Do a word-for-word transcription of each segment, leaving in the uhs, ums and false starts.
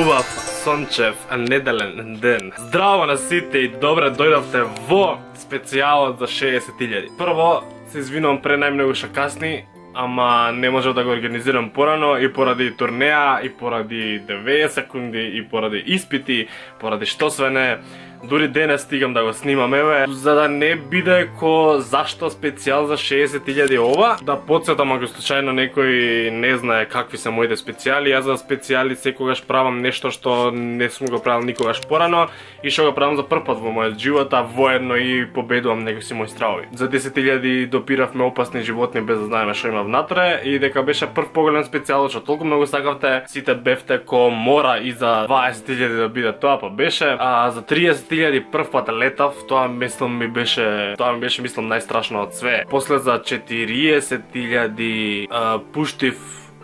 убав, сончев, неделен ден. Здраво на сите и добре дојдовте во специјалот за шеесет илјади. Прво, се извинувам пре најмногу што касни, ама не можев да го организирам порано и поради турнеа, и поради деветдесет секунди, и поради испити, поради што све не. Дури денес стигам да го снимам, еве, за да не биде ко зашто специјал за шеесет илјади ова. Да подсетам ако случајно некој не знае какви се моите специјали. Јас за специјали секогаш правам нешто што не сум го правил никогаш порано и што го правам за прв пат во мојот живот, а воедно и победувам некои мои стравови. За десет илјади допиравме опасни животни без да знаеме што има внатре и дека беше прв поголем специјал што толку многу сакавте, сите бевте ко мора и за дваесет илјади да биде тоа, па беше. А за триесет илјади прв пат летав, тоа мислам ми беше, тоа ми беше мислам најстрашно од све. После за четириесет илјади пуштив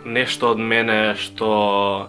нешто од мене што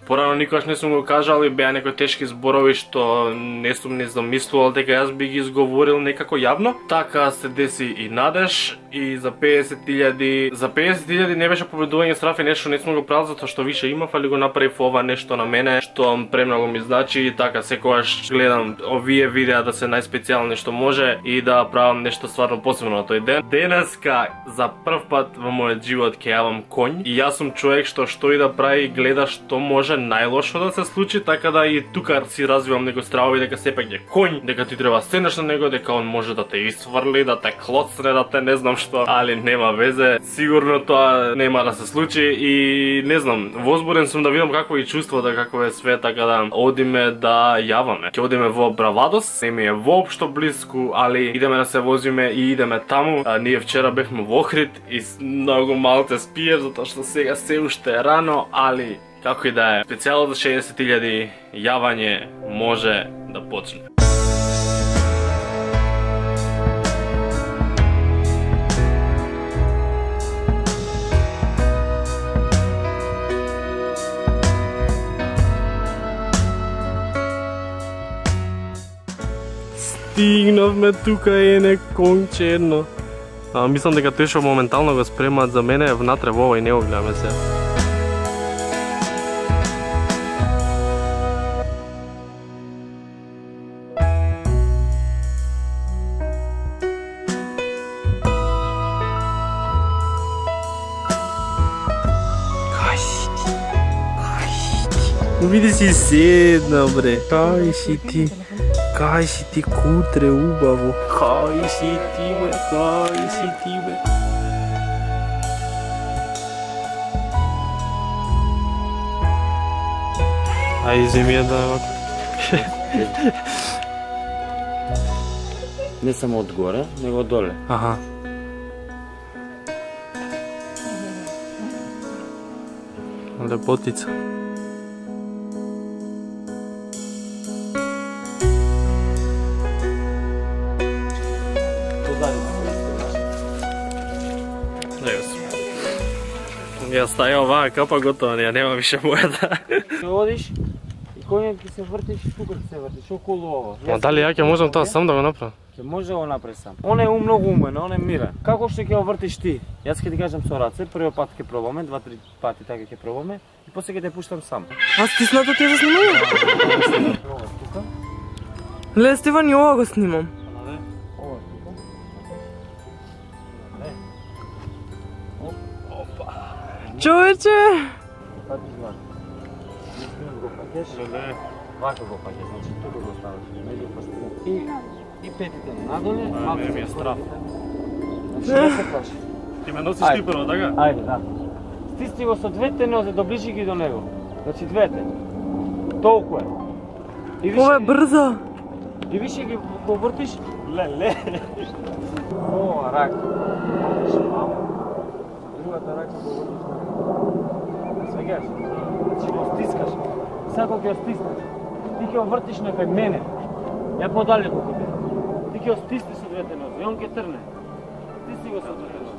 порано никогаш не сум го кажал и беа некои тешки зборови што не сум не замислувал дека јас би ги изговорил некако јавно. Така се деси и Надеж и за педесет илјади, за педесет илјади не беше победување страф и нешто не сум го правил затоа што више имав, али го направив ова нешто на мене што премногу ми значи и така секогаш гледам овие видеа да се најспецијални што може и да правам нешто стварно посебно на тој ден. Денеска за прв пат во мојот живот ќе јавам конј и јас сум човек што што и да прави гледа што може најлошо да се случи, така да и тука си развивам некои стравови дека сепак е конј, дека ти треба седнеш на него, дека он може да те исфрли, да те клоцне, да те не знам што, али нема везе. Сигурно тоа нема да се случи и не знам, возбуден сум да видам какво е чувството, какво е све, така да одиме да јаваме. Ќе одиме во Бравадос, не ми е воопшто блиску, али идеме да се возиме и идеме таму. А, ние вчера бевме во Охрид и многу малце спиев затоа што сега се уште е рано, али како и да е, специјалот за шеесет илјади јавање може да почне. Стигнавме тука е не конче едно. А, мислам дека тој што моментално го спремаат за мене е внатре во овој, не го гледаме се. Види си седна, бре. Кај си ти? Кај си ти, кутре убаво? Кај си ти, бе? Кај си ти, бе? Ај, земи ја да вако. Не само од горе, него од доле. Аха. Лепотица. Ја стаја оваа капа готова, ја нема више бојата. Ќе одиш и коњот ќе се вртиш, тука ќе се вртиш, околу ова. Ма дали ја ќе можам тоа сам да го направам? Ќе може да го направи сам. Он е ум многу умен, он е мирен. Како што ќе го вртиш ти? Јас ќе ти кажам со раце, првиот пат ќе пробаме, два-три пати така ќе пробаме и после ќе те пуштам сам. А стиснато ти ја снимам? Тука. Ле, Стефан, и ова го снимам. Човече! Пати звак. Не смееш го пакеш? Не. Вака го пакеш, значи тука го ставаш. Меѓу пастите. И, и петите надоле, малко Не ми е страф. Значи не се плаши. Ти ме носиш ти прво, така? Ајде, да. Стисни го со двете нозе, доближи ги до него. Значи двете. Толку е. И Ова е ги- брзо. И више ги го вртиш. Леле. Ова рака. Другата рака го вртиш. Свегаш. Значи го стискаш. Сега кога ќе го стиснеш, ти ќе го вртиш некај мене. Ја подалеку кога тебе. Ти ќе го стисни со двете нозе и он ќе трне. Стисни го со двете нозе.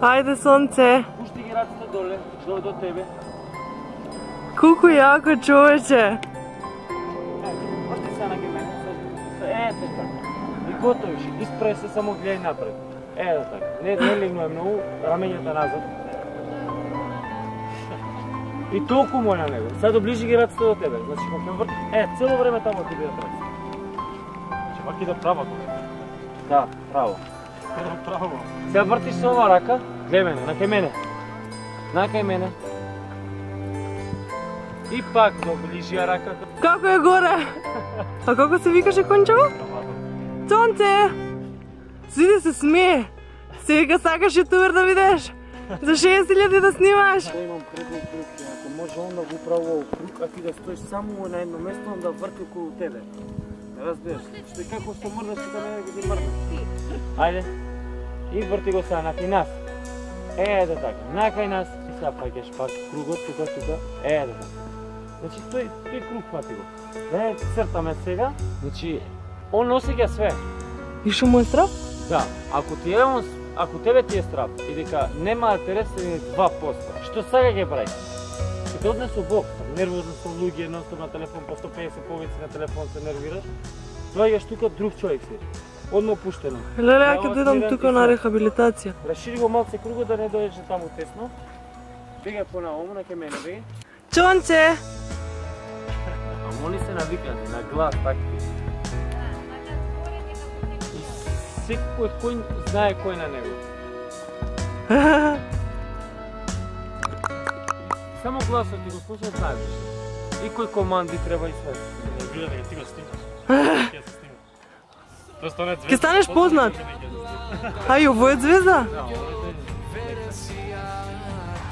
Ајде, сонце. Пушти ги раците доле, до, до тебе. Колку јако, човече. Е, врти се на ги мене. Е, така. И готовиш. Испрај се, само гледај напред. Е, така. Не, не легнуе многу, рамењата назад. И толку му е на него. Сега доближи ги раците до тебе. Значи кога ќе врти, е, цело време таму ќе бидат раците. Значи ваки да право тоа. Да, право. Право. Сега вртиш со ова рака, гледај мене, на кај мене. На кај мене. И пак доближи ја рака. Како е горе? А како се викаше кончево? Цонце! Сиди се смее. Се вика сакаш ютубер да видиш? За шеесет илјади да снимаш? Да имам предлог друг, ако може он да го прави во круг, а ти да стоиш само на едно место, он да врти околу тебе. Разбираш? Што и како што мрдаш и да мене го ти мрдаш. Ајде. И врти го сега накај нас. Ете така, накај нас. И сега паќаш пак кругот, тука, тука. Ете така. Значи тој, тој круг фати го. Да цртаме сега. Значи, он осеќа све. И што му е страв? Да, ако ти е он, ако тебе ти е страв и дека нема да те ресени два поста, што сега ќе прави? Ќе те однесу Бог, нервозно со луѓе, ностоп на телефон, по сто педесет повици на телефон се нервираш. Доаѓаш тука друг човек си. Одма пуштено. Леле, ја ќе дојдам тука на рехабилитација. Расшири го малце кругот да не дојдеш таму тесно. Бегај понаому, на ке мене, бегај. Чонче! А моли се навикани, на глас, така. И секој кој знае кој на него. Само гласот ти го слушаат, знаеш. И кој команди треба и све. Не гледа дека ти го снимаш. Ќе се снима. Тоа стане звезда. Ќе станеш познат. Ај, ово е звезда?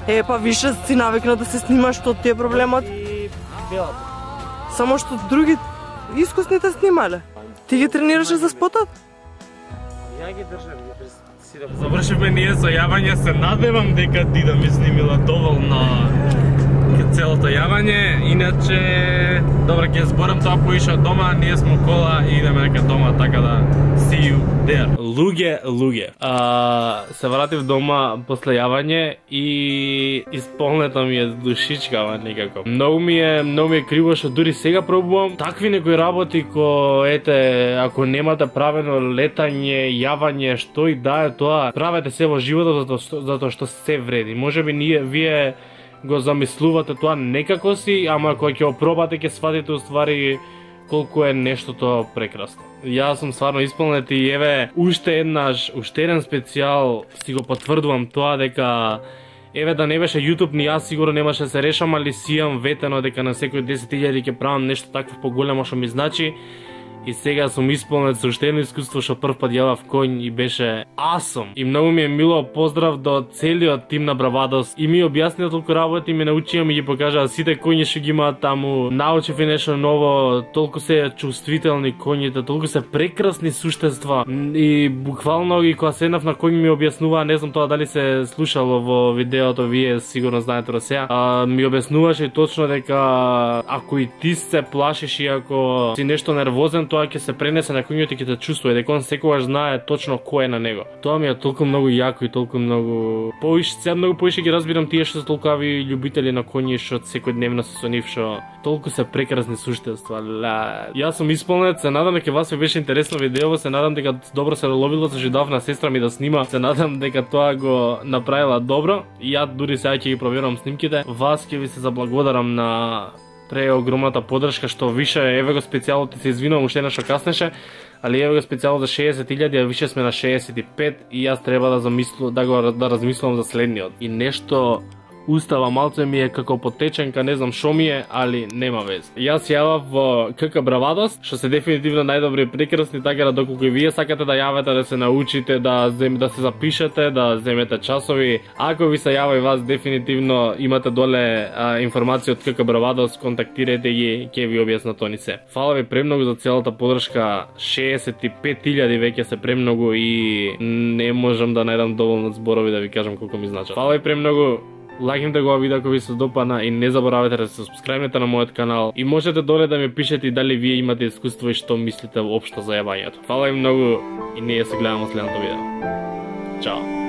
Е, па више си навикна да се снимаш, што ти е проблемот. И белата. Само што други искусните снимале. Ти ги тренираше за спотот? Ја ги држам, ги без си да... Завршивме ние со јавање, се надевам дека ти да ми снимила доволно целото јавање, иначе добро ќе зборам тоа поиша дома, ние сме кола и идеме дека дома, така да see you there. Луѓе, луѓе. А, се вратив дома после јавање и исполнета ми е душичкава некако. Многу ми е, многу ми е криво што дури сега пробувам такви некои работи ко ете, ако немате правено летање, јавање, што и да е тоа, правете се во животот затоа што, затоа што се вреди. Можеби ние вие го замислувате тоа некако си, ама кога ќе опробате ќе сватите уствари колку е нештото прекрасно. Јас сум стварно исполнет и еве уште еднаш, уште еден специјал си го потврдувам тоа дека еве да не беше YouTube ни јас сигурно немаше да се решам, али си имам ветено дека на секој десет илјади ќе правам нешто такво поголемо што ми значи. И сега сум исполнет со уште едно искуство што прв пат јавав конј и беше awesome. И многу ми е мило, поздрав до целиот тим на Бравадос. И ми објаснија толку работи, ми научија, ми ги покажаа сите коњи што ги имаат таму. Научив и нешто ново, толку се чувствителни коњите, толку се прекрасни суштества. И буквално и кога седнав на коњ ми објаснуваа, не знам тоа дали се слушало во видеото, вие сигурно знаете до сега. А, ми објаснуваше точно дека ако и ти се плашиш и ако си нешто нервозен, тоа ќе се пренесе на коњот и ќе те чувствува, дека он секогаш знае точно кој е на него. Тоа ми е толку многу јако и толку многу поише, сега многу поише ги разбирам тие што се толкави љубители на коњи што секојдневно се со нив, што толку се прекрасни суштества. Ла, јас сум исполнет, се надам дека вас ви беше интересно видео, се надам дека добро се ловило, се жидав на сестра ми да снима, се надам дека тоа го направила добро и ја дури сега ќе ги проверувам снимките. Вас ќе ви се заблагодарам на преогромната поддршка што више, еве го специјалот, се извинувам уште еднаш што каснеше, али еве го специјалот за шеесет илјади, а више сме на шеесет и пет и јас треба да замислам, да го да размислам за следниот. И нешто устава малце ми е како потеченка, не знам шо ми е, али нема вез. Јас јавав во КК Бравадос, што се дефинитивно најдобри и прекрасни, така да доколку и вие сакате да јавате, да се научите, да зем, да се запишете, да земете часови. Ако ви се јава и вас, дефинитивно имате доле а, информација од КК Бравадос, контактирайте ги, ќе ви објаснат они се. Фала ви премногу за целата поддршка, шеесет и пет илјади веќе се премногу и не можам да најдам доволно зборови да ви кажам колку ми значат. Фала ви премногу. Лајкнете го видео ако ви се допадна и не заборавајте да се субскрајбнете на мојот канал и можете доле да ми пишете дали вие имате искуство и што мислите воопшто за јавањето. Фала ви многу и ние се гледаме во следното видео. Чао!